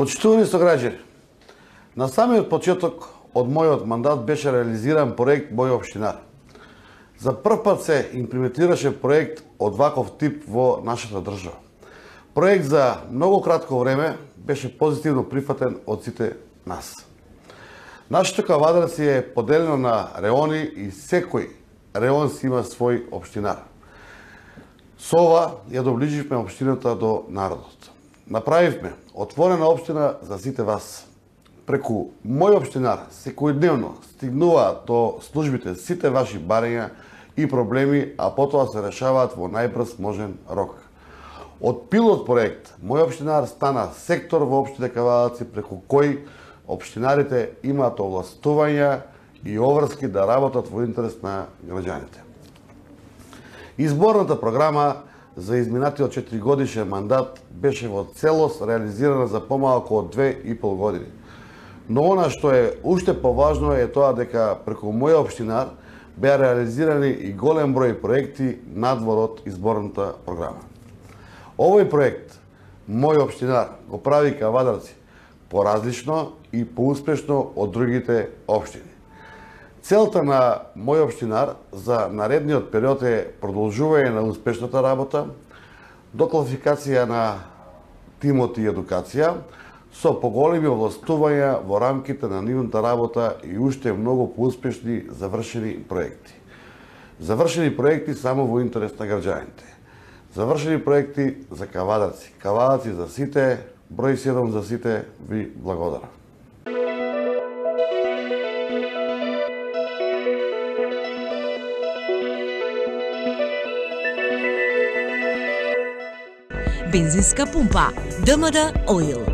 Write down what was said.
Почитувани сограѓани, на самиот почеток од мојот мандат беше реализиран проект Мој општинар. За прв пат се имплементираше проект од ваков тип во нашата држава. Проект за многу кратко време беше позитивно прифатен од сите нас. Нашето Кавадарци е поделено на реони и секој реон си има свој општинар. Со ова ја доближивме општината до народот. Направивме отворена општина за сите вас. Преку Мој општинар секојдневно стигнуваат до службите сите ваши барања и проблеми, а потоа се решаваат во најбрз можен рок. Од пилот проект Мој општинар стана сектор во општина Кавадарци преку кој општинарите имаат овластувања и обврски да работат во интерес на граѓаните. Изборната програма за изминатиот 4-годишен мандат беше во целост реализирана за помалку од 2,5 години. Но она што е уште поважно е тоа дека преку Мој општинар беа реализирани и голем број проекти надвор од изборната програма. Овој проект Мој општинар го прави Кавадарци поразлично и поуспешно од другите општини. Целта на Мој општинар за наредниот период е продолжување на успешната работа, докласификација на тимот и едукација, со поголеми овластувања во рамките на нивната работа и уште многу поуспешни завршени проекти. Завршени проекти само во интерес на граѓаните. Завршени проекти за Кавадарци. Кавадарци за сите, број 7 за сите, ви благодарам. Бензинска пумпа ДМД Оил.